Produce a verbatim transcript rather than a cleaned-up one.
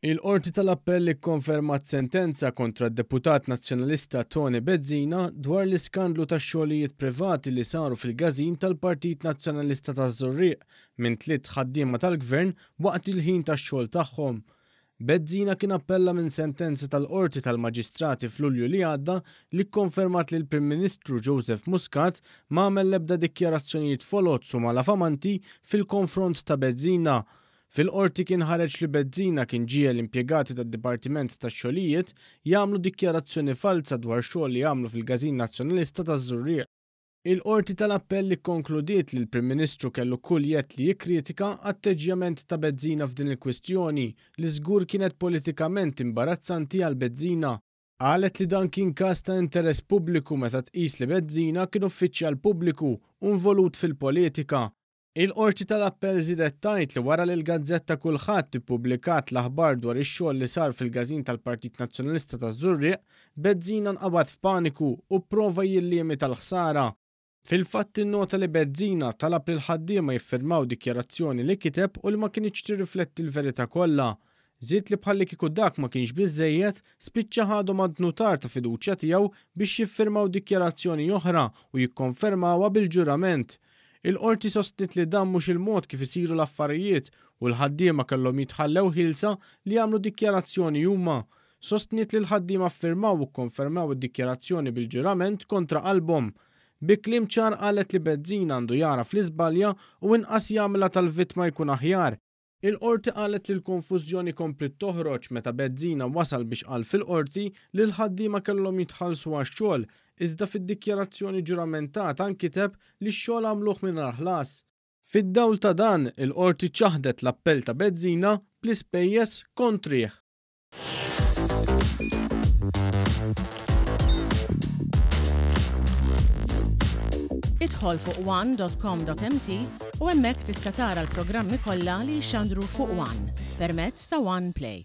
Il-Qorti tal-Appell ikkonfermat sentenza kontra d-deputat nazzjonalista Toni Bezzina dwar l-iskandlu ta' xogħlijiet privati li saru fil-każin tal-Partit Nazzjonalista taż-Żurrieq minn tliet ħaddiema tal-Gvern waqt il-ħin tax-xogħol tagħhom. Bezzina kien appella minn sentenza tal-Qorti tal-Maġistrati f'Lulju li għadda li kkonfermat li l-Prim Ministru Joseph Muscat ma għamel l-ebda dikjarazzjonijiet foloz u malafamanti fil-konfront ta' Bezzina. Fil-qorti kien ħareġ li Bezzina kien ġiegħel l-impjegati tad-Dipartiment tax-Xogħlijiet jagħmlu dikjarazzjoni falsa dwar xogħol li għamlu fil-Każin Nazzjonalista taż-Żurrieq. Il-Qorti tal-Appell ikkonkludiet li l-Prim Ministru kellu kull jedd li jikkritika atteġġjament ta' Bezzina f'din il-kwistjoni li żgur kienet politikament imbarazzanti għal Bezzina. Qalet li dan kien każ ta' interess pubbliku meta tqis li Bezzina kien uffiċjal pubbliku u involut fil-politika. Il-Qorti tal-Appell żiedet tgħid li wara li l-gazzetta Kulħadd ippubblikat l-aħbar dwar ix-xogħol li sar fil-każin tal-Partit Nazzjonalista taż-Żurrieq, Bezzina nqabad f'paniku u pprova jillimita l-ħsara. Fil-fatt innota li Bezzina talab lil ħaddiema jiffirmaw dikjarazzjoni li kiteb u li ma kinitx tirrifletti l-verità kollha. Żied li bħalli kieku dak ma kienx biżżejjed, spiċċa ħadhom għand nutar ta' fiduċja tiegħu biex jiffirmaw dikjarazzjoni oħra u jikkonfermawha bil-ġurament. Il-qorti sostniet li dan mhux il-mod kif isiru l-affarijiet u l-ħaddiema kellhom jitħallew ħielsa li jagħmlu dikjarazzjoni huma. Sostniet li l-ħaddiema ffirmaw u kkonfermaw id-dikjarazzjoni bil-ġurament kontra qalbhom. Bi kliem ċar qalet li Bezzina għandu jagħraf li żbalja u inqas jagħmilha tal-vittma jkun aħjar. Il-qorti qalet li l-konfużjoni kompliet toħroġ meta Bezzina wasal biex qal fil-qorti li l-ħaddiema kellhom jitħallsu għax-xogħol, iżda fid-dikjarazzjoni ġuramentata nkiteb li x-xogħol għamluh mingħajr ħlas. Fid-dawl ta' dan, il-qorti ċaħdet l-appell ta' Bezzina bl-ispejjeż kontrih. Idħol fuq one dot com dot m t u hemmhekk tista' tara l-programmi kollha li jixxandru fuq One permezz ta' One Play.